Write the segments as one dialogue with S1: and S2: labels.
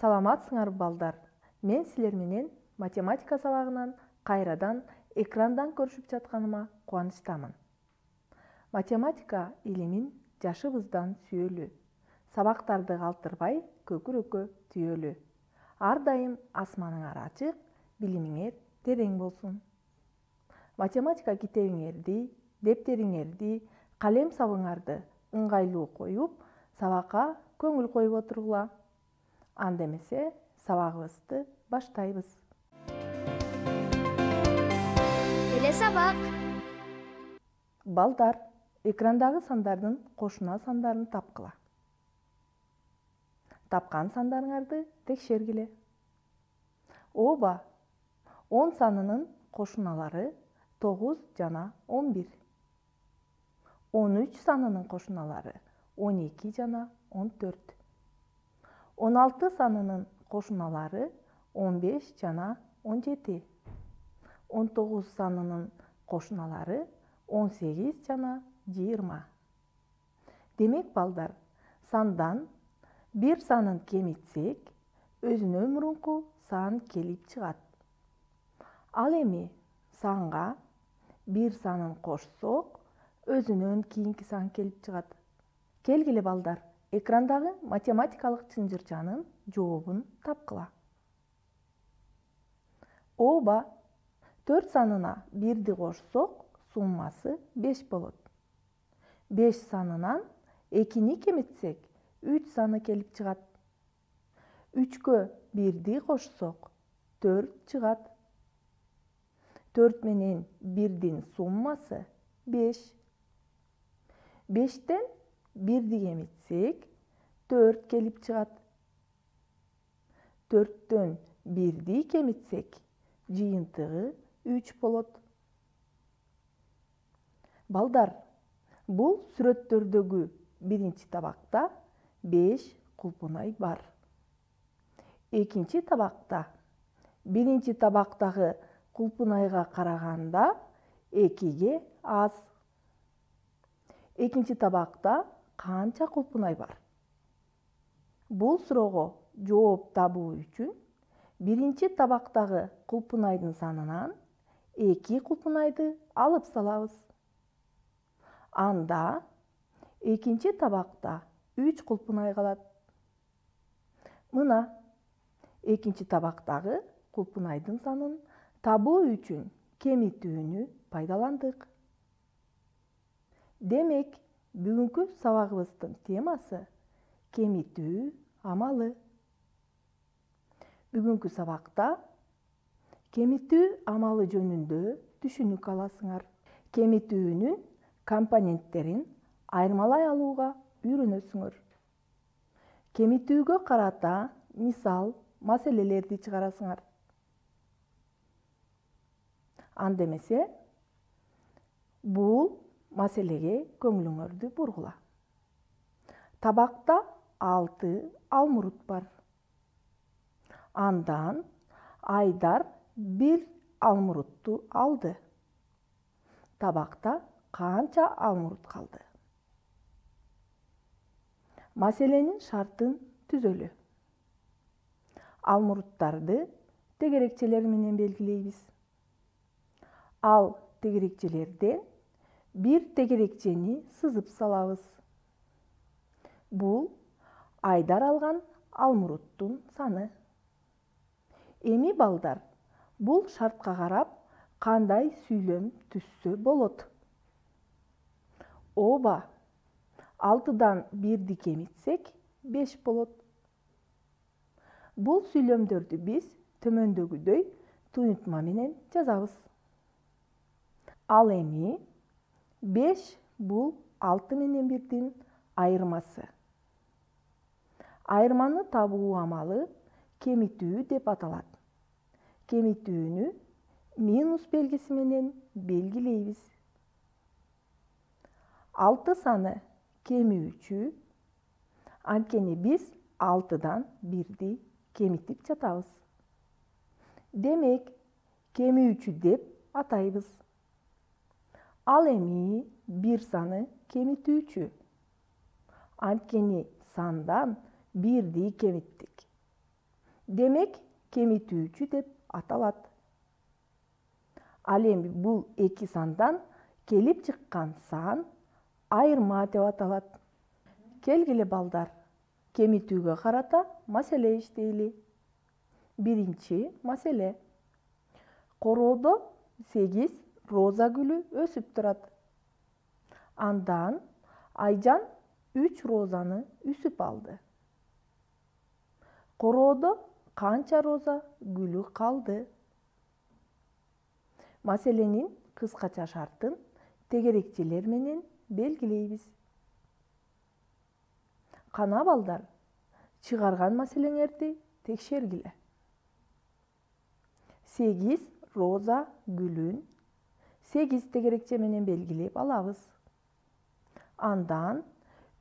S1: Саламатсыңарбы балдар? Мен силер менен математика сабагынан кайрадан экрандан көрүшүп жатканыма кубанычтамын. Математика илимин жашыбыздан сүйөлү. Сабактарды калтырбай көкүрөккө түйөлү. Ар дайым асманыңар ачык, билимиңер терең болсун. Математика китебиңерди, дептериңерди, калем сабыңарды ыңгайлуу коюп, сабакка көңүл коюп отургула. Анда эмесе сабагыбызды баштайбыз.
S2: Эле сабак.
S1: Балдар, экрандагы сандардын кошуна сандарын тапкыла. Тапкан сандарыңарды текшергиле. Ооба, 10 санынын кошуналары 9 жана 11. 13 санынын кошуналары 12 жана 14. 16 санынын кошуналары 15 жана 17. 19 санынын кошуналары 18 жана 20. Демек балдар, сандан бир санын кемитсек, өзүнөн мурунку сан келип чыгат. Ал эми санга бир санын кошсок, өзүнөн кийинки сан келип чыгат. Келгиле балдар, экрандагы математикалык чынжырчанын жообун тапкыла. Ооба, 4 санына 1ди кошсок, суммасы 5 болот. 5 санынан 2-ни кемитсек, 3 саны келип чыгат. 3кө 1ди кошсок, 4 чыгат. 4 менен 1дин суммасы 5. 5тен 1ди кемитсек, 4 келип чыгат. 4төн 1ди кемитсек, жыйынтыгы 3 болот. Балдар, бул сүрөттөрдөгү биринчи табакта 5 кулпунай бар. Экинчи табакта биринчи табактагы кулпунайга караганда 2ге аз. Экинчи табакта канча кулпунай бар? Бул суроого жооп табуу үчүн биринчи табактагы кулпунайдын санынан 2 кулпунайды алып салабыз. Анда экинчи табакта 3 кулпунай калат. Мына экинчи табактагы кулпунайдын санын табуу үчүн кемитүүнү пайдаландык. Демек, бүгүнкү сабагыбыздын темасы кемитүү амалы. Бүгүнкү сабакта кемитүү амалы жөнүндө түшүнүк аласыңар. Кемитүүнүн компоненттерин айырмалай алууга үйрөнөсүңөр. Кемитүүгө карата мисал, маселелерди чыгарасыңар. Анда эмесе, бул маселеге көңүлүңөрдү бургула. Табакта 6 алмурут бар. Андан Айдар 1 алмурутту алды. Табакта канча алмурут калды? Маселенин шартын түзөлү. Алмуруттарды тегерекчелер менен белгилейбиз. Ал тегерекчелерден бир тегерекчени сызып салабыз. Бул Айдар алган алмуруттун саны. Эми балдар, бул шартка карап кандай сүйлөм түзсө болот? Ооба, 6дан 1ди кемитсек 5 болот. Бул сүйлөмдөрдү биз төмөндөгүдөй туюнтма менен жазабыз. Ал эми 5 бул 6 менен 1дин айырмасы. Айырманы табуу амалы кемитүү деп аталат. Кемитүүнү минус белгиси менен белгилейбиз. 6 саны кемүүчү, анткени биз 6дан 1ди кемитип жатабыз. Демек, кемүүчү деп атайбыз. Ал эми 1 саны демек кемитүүчү деп аталат. Ал эми бул эки сандан келип чыккан сан айырма деп аталат. Келгиле балдар, кемитүүгө карата маселе иштейли. Биринчи маселе. Короодо 8 роза гүлү өсүп турат. Андан Айжан 3 розаны үсүп алды. Короодо канча роза гүлү калды? Маселенин кыскача шартын тегерекчелер менен белгилейбиз. Кана балдар, чыгарган маселеңерди текшергиле. 8 роза гүлүн 8 тегерекче менен белгилеп алабыз. Андан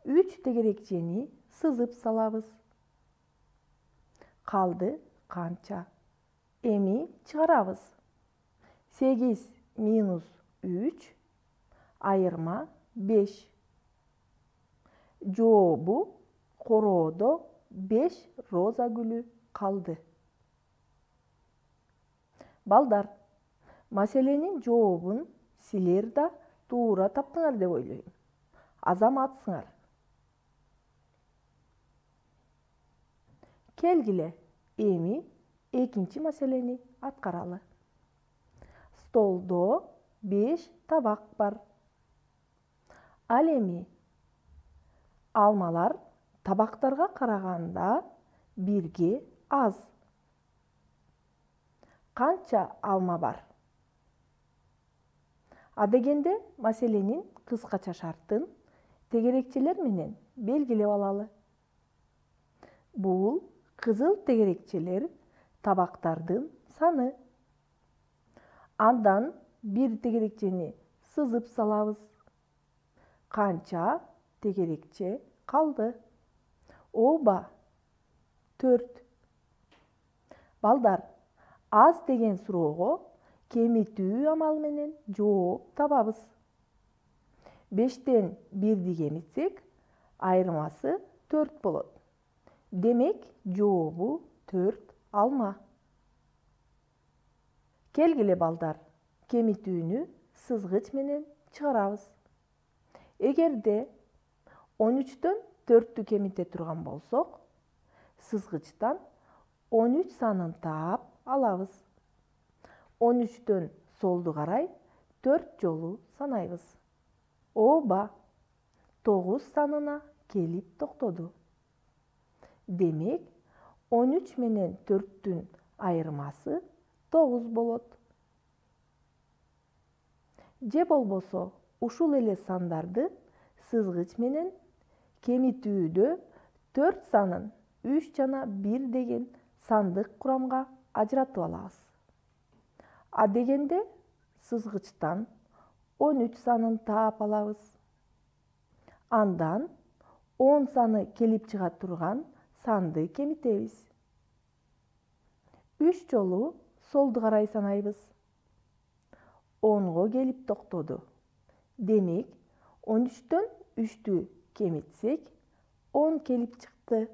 S1: 3 тегерекчени сызып салабыз. Калды канча? Эми чыгарабыз. 8 минус 3 айырма 5. Жообу короодо 5 роза гүлү калды. Балдар, маселенин жообун силер да туура таптыңар деп ойлойм. Азаматсыңар. Келгиле, эми экинчи маселени аткаралы. Столдо 5 табак бар. Ал эми алмалар табактарга караганда бирге аз. Канча алма бар? Адегенде маселенин кыскача шартын тегерекчелер менен белгилеп алалы. Бул кызыл тегерекчелер табактардын саны. Андан бир тегерекчени сызып салабыз. Канча тегерекче калды? Ооба, 4. Балдар, аз деген суроого кемитүү амалы менен жооп табабыз. 5тен 1ди кемитсек, айырмасы 4 болот. Демек, жообу 4 алма. Келгиле балдар, кемитүүнү сызгыч менен чыгарабыз. Эгерде 13төн 4тү кемите турган болсок, сызгычтан 13 санын таап алабыз. 13төн солду карай 4 жолу санайбыз. Ооба, 9 санына келип токтоду. Демек, 13 менен 4түн айырмасы 9 болот. Же болбосо, ушул эле сандарды сызгыч менен кемитүүдө 4 санын 3 жана 1 деген сандык курамга ажыратып алабыз. Адегенде сызгычтан 13 санын таап алабыз. Андан 10 саны келип чыга турган санды кемитебиз. 3 жолу солду карай санайбыз. 10го келип токтоду. Демек, 13төн 3тү кемитсек, 10 келип чыкты.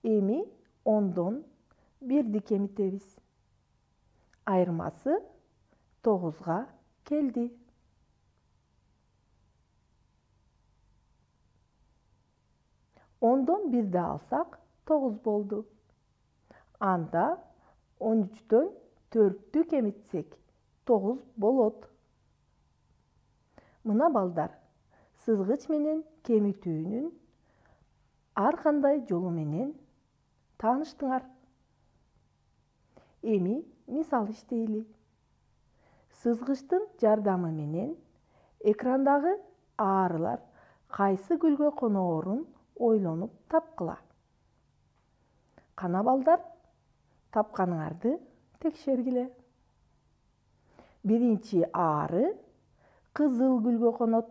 S1: Эми 10дон 1ди кемитебиз. Айырмасы 9га келди. Ондон 1ди алсак 9 болду. Анда 13төн 4тү кемитсек 9 болот. Мына балдар, сызгыч менен кемитүүнүн ар кандай жолу менен тааныштыңар. Эми мисал иштейли. Сызгычтын жардамы менен экрандагы аарылар кайсы гүлгө коноорун ойлонуп тапкыла. Кана балдар, тапканыңарды текшергиле. Биринчи аары кызыл гүлгө конот.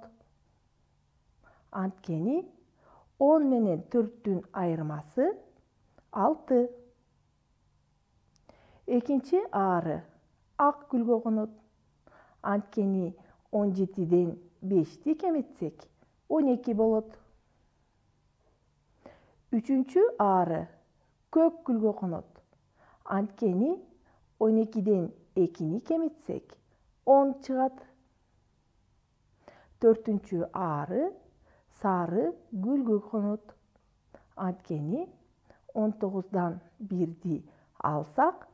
S1: Анткени 10 менен 4түн айырмасы 6. Экинчи аары ак гүлгө конот. Анткени 17ден 5ти кемитсек 12 болот. Үчүнчү аары көк гүлгө конот. Анткени 12ден 2-ни кемитсек 10 чыгат. 4-чү ары сары гүлгө конот. Анткени 19дан 1-ди алсак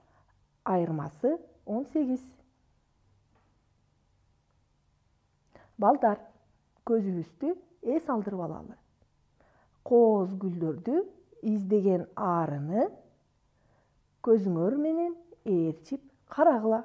S1: айырмасы 18. Балдар, көзүбүздү эс алдырып алалы. Кооз гүлдөрдү издеген арыны көзүңөр менен ээрчип карагыла.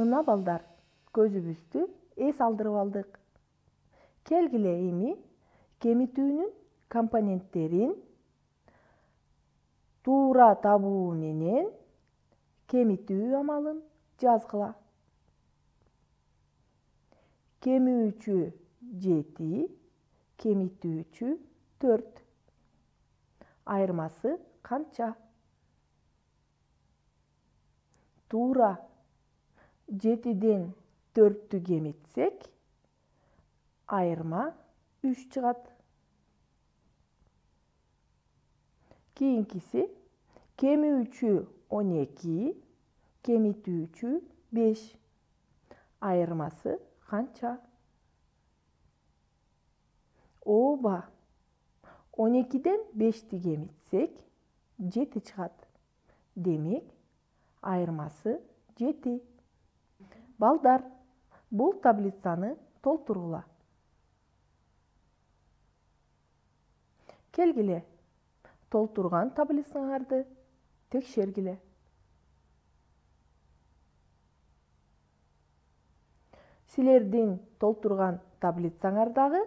S1: Мына балдар, көзүбүздү эс алдырып алдык. Келгиле эми кемитүүнүн компоненттерин туура табуу менен кемитүү амалын жазгыла. Кемүүчү 7, кемитүүчү 4. Айырмасы канча? Туура 7ден 4-тү кемитсек, айырма 3 чыгат. Кийинкиси кемүүчү 12, кемитүүчү 5. Айырмасы канча? Ооба, 12ден 5-ти кемитсек 7 чыгат. Демек, айырмасы 7. Балдар, бул таблицаны толтургула. Келгиле, толтурган таблицаңарды текшергиле. Силердин толтурган таблицаңардагы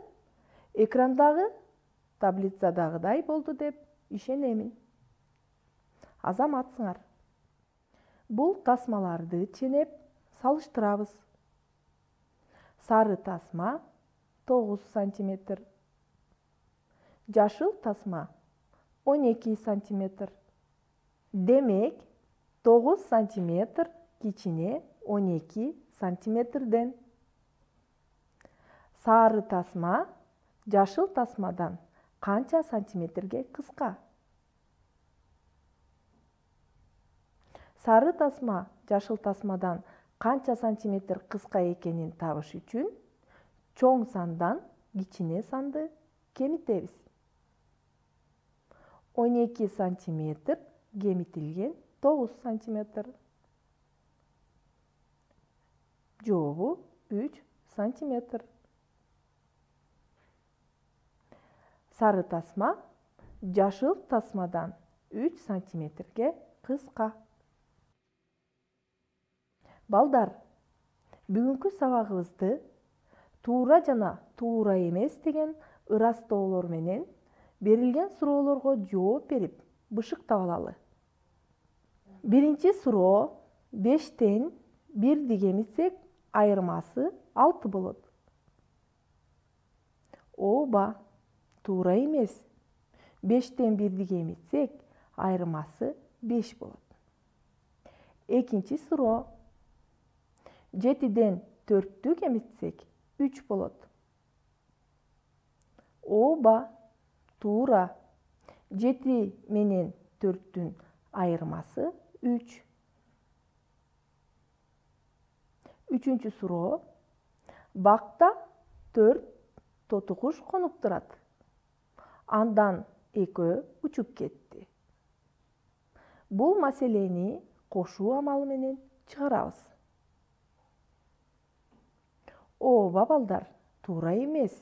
S1: экрандагы таблицадагыдай болду деп ишенемин. Азаматсыңар. Бул тасмаларды ченеп салыштырабыз. Сары тасма 9 сантиметр. Жашыл тасма 12 сантиметр. Демек, 9 сантиметр кичине 12 сантиметрден. Сары тасма жашыл тасмадан канча сантиметрге кыска? Сары тасма жашыл тасмадан канча сантиметр кыска экенин табыш үчүн чоң сандан кичине санды кемитебиз. 12 сантиметр кемитилген 9 сантиметр. Жообу 3 сантиметр. Сары тасма жашыл тасмадан 3 сантиметрге кыска. Балдар, бүгүнкү сабагыбызды туура жана туура эмес деген ырастоолор менен берилген суроолорго жооп берип бышыктап алалы. Биринчи суроо: 5тен 1-ди кемитсек айырмасы 6 болот. Ооба, туура эмес. 5тен 1-ди кемитсек айырмасы 5 болот. Экинчи суроо: 7ден 4-тү кемитсек 3 болот. Ооба, туура. 7 менен 4-түн айырмасы 3. Үчүнчү суроо: бакта 4 тоту куш конуп турат. Андан экөө учуп кетти. Бул маселени кошуу амалы менен чыгарабыз. Ооба балдар, туура эмес.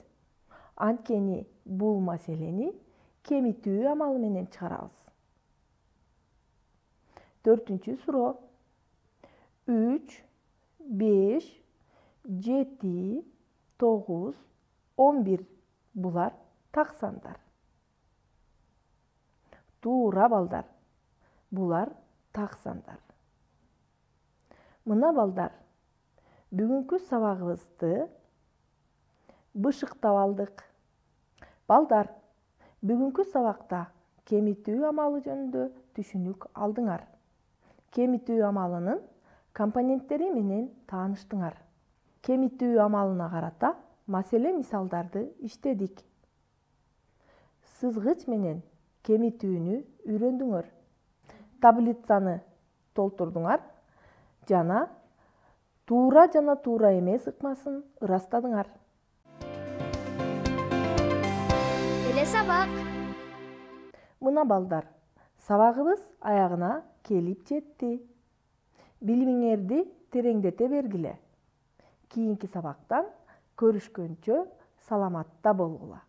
S1: Анткени бул маселени кемитүү амалы менен чыгарабыз. Төртүнчү суроо: 3, 5, 7, 9, 11 булар так сандар. Туура балдар, булар так сандар. Мына балдар, бүгүнкү сабагыбызды бышыктап алдык. Балдар, бүгүнкү сабакта кемитүү амалы жөнүндө түшүнүк алдыңар. Кемитүү амалынын компоненттери менен тааныштыңар. Кемитүү амалына карата маселе мисалдарды иштедик. Сызгыч менен кемитүүнү үйрөндүңөр. Таблицаны толтурдуңар жана туура жана туура эмес ыкмасын ырастадыңар.
S2: Телесабак.
S1: Мына балдар, сабагыбыз аягына келип жетти. Билимиңерди тереңдете бергиле. Кийинки сабактан көрүшкөнчө саламатта болгула.